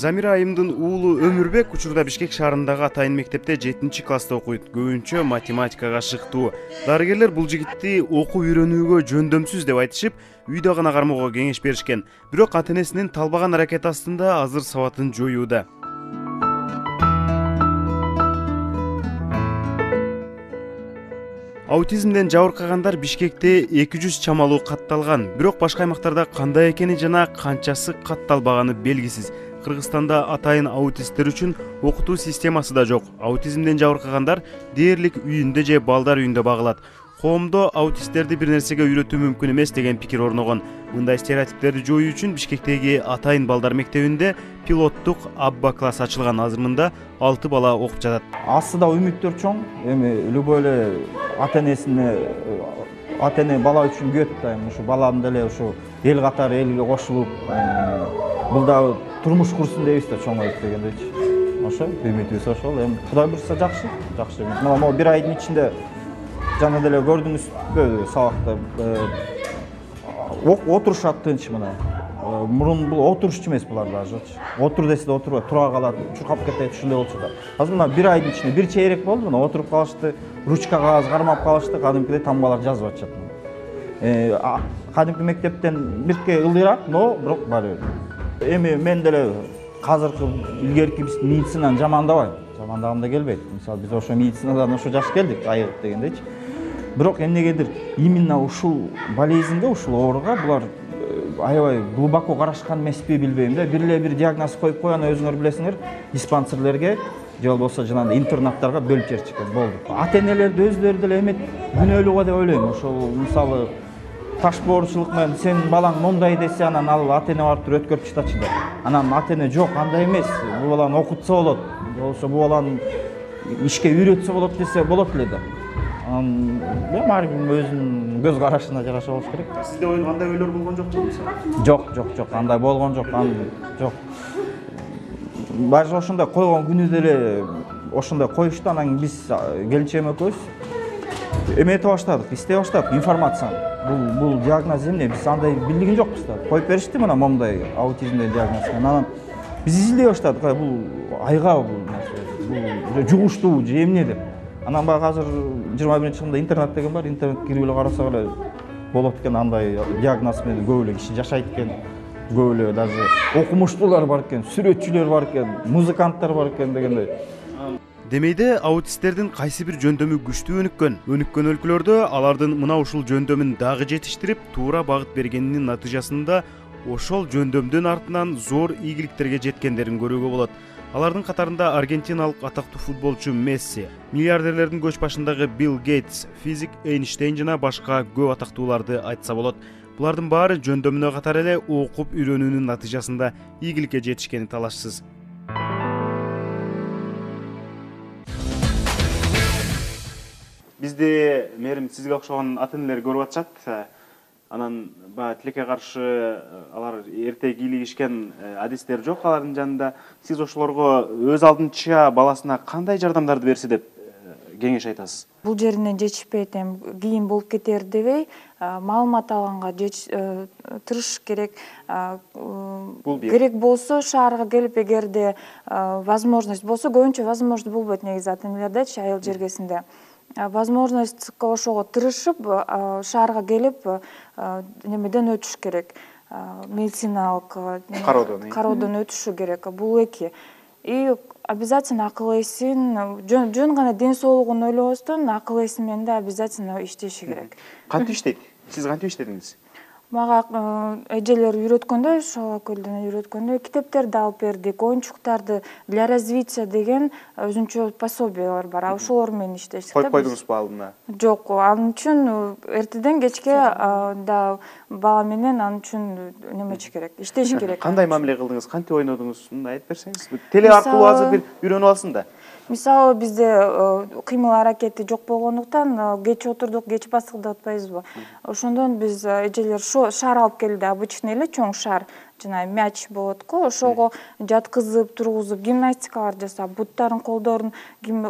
Замира Айымдын уулу Өмүрбек учурда Бишкек шаарындагы атайын мектепте 7-класста окуйт. Көбүнчө математикага шыктуу. Дарыгерлер бул жигитти окуп үйрөнүүгө жөндөмсүз деп айтышып, үйдө гана кармоого кеңеш беришкен. Бирок ата-энесинин талбаган аракети астында азыр сабатын жоюуда. Аутизмден жабыркагандар Бишкекте 200 чамалуу катталган. Бирок башка аймактарда кандай экени жана канчасы катталбаганы белгисиз. Кыргызстанда атайын аутисттер үчүн окутуу системасы да жок. Аутизмден жабыркагандар дээрлик үйүндө же балдар үйүндө багылат. Коомдо аутисттерди бир нерсеге үйрөтүү мүмкүн эмес деген пикир орногон. Мындай стереотиптерди жоюу үчүн Бишкектеги атайын балдар мектебинде пилоттук Абба класс ачылган. Азыр мында 6 бала окуп жатат. Астыда үмүттөр чоң. Эми любой эле ата-энесине бала үчүн күтөт да, ушу балам деле ушу эл катары элге кошулуп, бул дагы турмуш курсун дейбиз да, чоңоюп дегендейчи. Ошо үмүтүбүз ошол. Эми Кудай буйрса жакшы. Могу бир айдын ичинде жана деле көрдүңүзбү сабакта отурушат тынч мына. Мурун бул отурушчу эмес булар дажычы. Отур десе да отурбайт, тура калат, чуркап кетет, ушундай болчу да. Азыр мына бир айдын ичинде бир чейрек болду, мына отуруп калышты, ручка кагаз кармап калышты, кадимкидей тамгалар жазып атышат. Кадимки мектептен бирке ылдыйраак, но бирок баары бир. Эми мен деле азыркы илгерки биз медицинаны жамандабайм. Жамандагым да келбейт. Мисалы биз ошо медицинадан ошо жаш келдик, айыгып дегендейчи. Бирок эмнегедир именно ушул болезньге, ушул ооруга булар аябай глубоко карашкан эмеспи билбейм да. Бир эле бир диагноз коюп койгон, өзүңөр билесиңер, диспансерлерге же болбосо жанагындай интернаттарга бөлүп жиберишкен болду. Ата-энелерди өзүлөрү деле эметип күнөөлүү го деп ойлойм. Ошол мисалы ташбоорчулук менен сен балаң мондай десе, анан ал ата-эне барып туруп өткөрүп чыгачы да. Анан ата-эне жок, андай эмес, бул баланы окутса болот, болбосо бул баланы ишке үйрөтсө болот десе болот эле да. Эми ар ким өзүнүн көз карашына жараша болуш керек. Сизде андай ойлор болгон жокпу? Жок, андай болгон жок, жок. Баары ошондой койгон күнү деле ошондой коюшту, анан биз келинчегим экөөбүз эметип баштадык, издей баштадык информацияны. Бул диагноз эмне? Биз андай билген жокпуз да. Коюп беришти мына момундай аутизмден диагноз. Анан биз издей баштадык, бул айга бул жугуштуу же эмне деп. Анан баягы азыр 21-жылда интернет деген бар, интернетке кирип эле карасак эле болот экен, андай диагноз менен көп эле киши жашайт экен. Көп эле даже окумуштуулар бар экен, сүрөтчүлөр бар экен, музыканттар бар экен дегендей. Демейде аутисттердин кайсы бир жөндөмү күчтүү өнүккөн өлкөлөрдө алардын мына ушул жөндөмүн дагы жетиштирип, туура багыт бергенинин натыйжасында ошол жөндөмдүн артынан зор ийгиликтерге жеткендерин көрүүгө болот. Алардын катарында аргентиналык атактуу футболчу Месси, миллиардерлердин көч башындагы Билл Гейтс, физик Эйнштейн жана башка көп атактууларды айтса болот. Булардын баары жөндөмүнө катар эле окуп үйрөнүүнүн натыйжасында ийгиликке жетишкени талашсыз. Бизде мээрим сизге окшогон ата-энелер көрүп атышат. Анан тилекке каршы алар эрте кийлигишкен адистер жок алардын жанында. Сиз ошолорго өз алдынча баласына кандай жардамдарды берсе деп кеңеш айтасыз? Бул жеринен жетишпейт, кийин болуп кетер дебей, маалымат алганга тырышыш керек. Керек болсо шаарга келип, эгерде возможность болсо, көбүнчө возможность болбойт негизи ата-энелердечи, айыл жергесинде. Возможность ошого тырышып, шаарга келип, немеден өтүш керек. Медициналык кароодон өтүшү керек. Бул эки. И обязательно акыл эсин, жөн гана ден соолугун ойлобостон, акыл эси менен да обязательно иштеши керек. Кантип иштейт? Сиз кантип иштедиңиз? Мага эжелер үйрөткөндөй, ошол көлдөн үйрөткөндөй китептерди алып бердик, оюнчуктарды для развития деген өзүнчө пособиялар бар. Ошолор менен иштештик. Коюп койдуңузбу алдына? Жок, ал үчүн эртеден кечке да бала менен ал үчүн немечи керек, иштеш керек. Кандай мамиле кылдыңыз, кантип ойнодуңуз? Мындай айтып берсеңиз. Теле аркылуу азыр бир үйрөнүп алсын да. Мисалы бизде кыймыл аракети жок болгондуктан кеч отурдук, кеч басылды атпайбызбы. Ошондон биз эжелер шар алып келди, обычный эле чоң шар, жана мяч болот го, ошого жаткызып, тургузуп, гимнастикалар жасап, буттарын, колдорун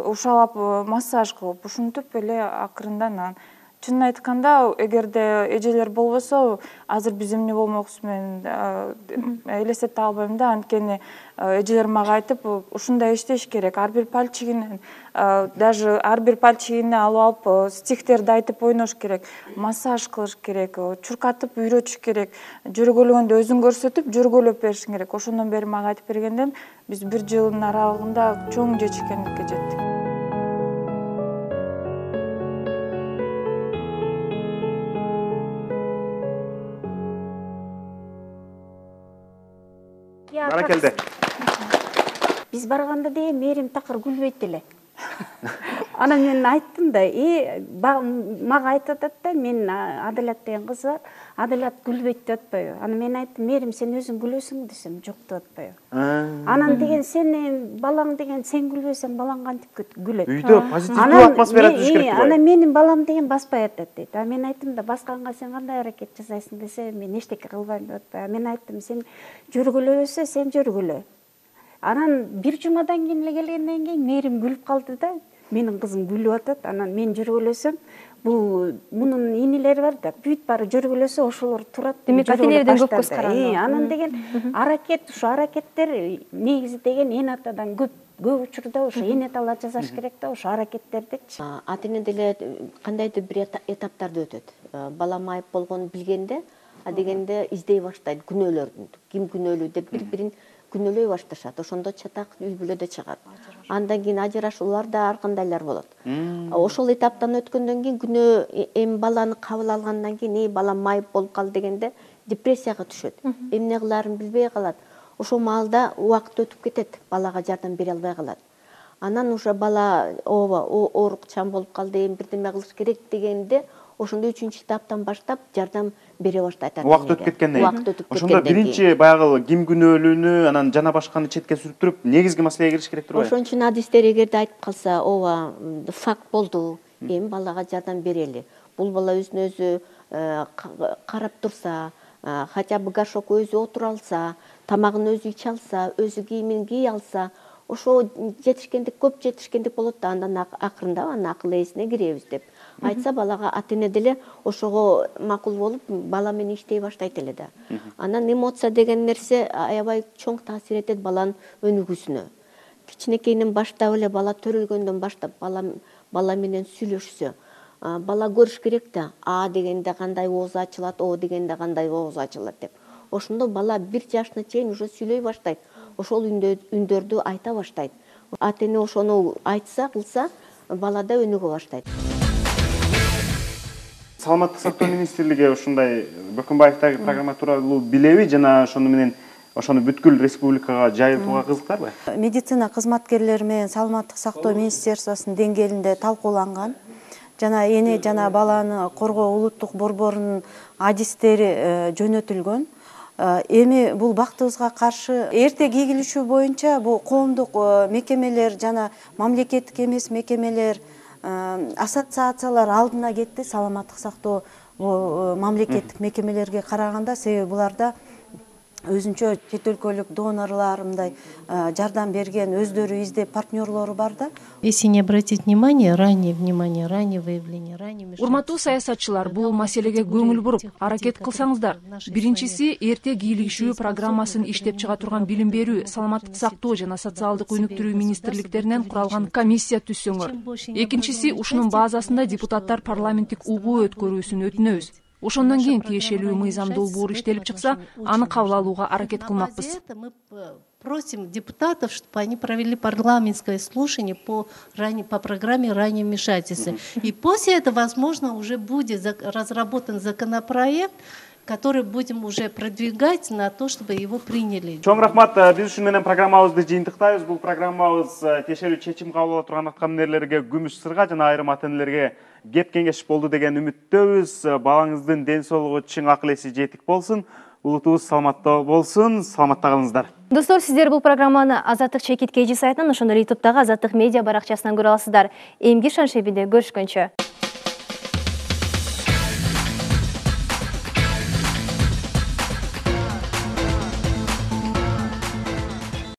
ушалап массаж кылып, ушинтип эле акырындан чынын айтканда, эгерде эжелер болбосо, азыр биз эмне болмокпуз, мен элестете албайм да. Анткени эжелер мага айтып, ушундай иштеш керек. Ар бир пальчигинен, даже ар бир пальчигине алып стихтерди айтып ойнош керек, массаж кылыш керек, чуркатып үйрөтүш керек, жөргөлөгөндө өзүң көрсөтүп, жөргөлөп беришиң керек. Ошондон бери мага айтып бергенден биз 1 жылдын аралыгында чоң жетишкендикке жеттик. Баракелде. Биз барганда деген Мээрим такыр күлбөйт эле. Анан мен айттым да, мага айтып атат да, мен Адалат деген кыз бар, Адалат күлбөйт деп атпайбы. Анан мен айттым, Мээрим сен өзүң күлөсүң десем, жок деп атпайбы. Анан деген сен балаң деген сен күлбөсөң балаң кантип күлөт. Үйдө позитивдүү атмосфера түзүш керек дейт. Анан менин балам деген баспай атат дейт. Мен айттым да, басканга сен кандай аракет жасайсың десе, мен эчтеке кылбайм деп атпайбы. Мен айттым, сен жөргөлөбөсө сен жөргөлө. Анан 1 жумадан кийин эле келгенден кийин Мээрим күлүп калды да, менин кызым күлүп атат. Анан мен жөргөлөсөм, бул мунун инилери бар да, бүт баары жөргөлөсө ошолор турат. Демек ата-энелерден көп көз каранды. Анан деген аракет, ушу аракеттер негизи деген эн атадан көп учурда ошо эн аталар жасаш керек да, ошо аракеттердичи. Ата-эне деле кандайдыр бир этаптарды өтөт. Бала майып болгонун билгенде, дегенде издей баштайт күнөөлөрдү. Ким күнөөлүү деп бири-бирин күнөөлөй башташат. Ошондо чатак үй бүлөдө чыгат. Андан кийин ажырашуулар да ар кандайлар болот. Ошол этаптан өткөндөн кийин күнөө эми баланы кабыл алгандан кийин балам майып болуп калды дегенде депрессияга түшөт. Эмне кылаарын билбей калат. Ошол маалда убакыт өтүп кетет, балага жардам бере албай калат. Анан уже бала оорукчан болуп калды, эми бирдеме кылыш керек дегенде ошондо 3-чү этаптан баштап жардам бере баштайт. Убакыт өтүп кеткенден кийин. Ошондо биринчи баягы ким күнөөлүүнү, анан жана башканы четке сүрүп туруп, негизги маселеге кириш керек турбайбы? Ошон үчүн адистер эгерде айтып калса, факт болду, эми балага жардам берели. Бул бала өзүнө өзү карап турса, хотя бы горшокко өзү отура алса, тамагын өзү иче алса, өзү кийимин кие алса, ошо жетишкендик, көп жетишкендик болот да, андан акырында акыл ээсине киребиз деп айтса, балага ата-эне деле ошого макул болуп, бала менен иштей баштайт эле да. Анан эмоция деген нерсе аябай чоң таасир этет баланын өнүгүүсүнө. Кичинекейинен баштап эле бала төрөлгөндөн баштап бала менен сүйлөшсө, бала көрүш керек да, А дегенде кандай ооз ачылат, О дегенде кандай ооз ачылат деп. Ошондо бала 1 жашына чейин уже сүйлөй баштайт. Ошол үндөрдү айта баштайт. Ата-эне ошону айтса, кылса, бала да өнүгө баштайт. Саламаттык сактоо министрлиги ушундай Бөкөнбаевдagi программа тууралуу билеби жана ошону менен ошону бүткүл республикага жайылтууга кызыктарбы? Медицина кызматкерлери менен саламаттык сактоо министерствосунун деңгээлинде талкууланган. Жана эне жана баланы коргоо улуттук борборунун адистери жөнөтүлгөн. Эми бул бактыбызга каршы эрте кийгилишүү боюнча бул коомдук мекемелер жана мамлекеттик эмес мекемелер, ассоциациялар алдына кетти саламаттык сактоо мамлекеттик мекемелерге караганда, себеби буларда өзүнчө чет өлкөлүк донорлор, мындай жардам берген өздөрү издеп партнерлору бар да. Если не обратить внимание, раннее выявление, раннее вмешательство. Урматтуу саясатчылар, бул маселеге көңүл буруп, аракет кылсаңыздар. Биринчиси, эрте кийлигишүү программасын иштеп чыга турган билим берүү, саламаттык сактоо жана социалдык өнүктүрүү министрликтеринен куралган комиссия түзсөңөр. Экинчиси, ушунун базасында депутаттар парламенттик угуу өткөрүүсүн өтүнөбүз. Ошондон кийин тиешелүү мыйзам долбоор иштелип чыкса, аны кабыл алууга аракет кылмакпыз. Просим депутатов, чтобы они провели парламентское слушание по программе раннего вмешательства. И после этого, возможно, уже будет разработан законопроект, который будем уже продвигать на то, чтобы его приняли. Чоң рахмат, биз ушун менен программабызды жыйынтыктайбыз. Бул программабыз тиешелүү чечим кабыл ала турган аткаминерлерге күмүш сырга жана айрым ата-энелерге кеп кеңеш болду деген үмүттөбүз. Балаңыздын ден соолугу, чың акыл эси жетик болсун. Улутубуз саламатта болсун. Саламатта калыңыздар. Достор, сиздер бул программаны Азаттык чекит KG сайтынан, ошондой ютубтагы Азаттык медиа баракчасынан көрө аласыздар. Эмгир шаншебинде көрүшкөнчө.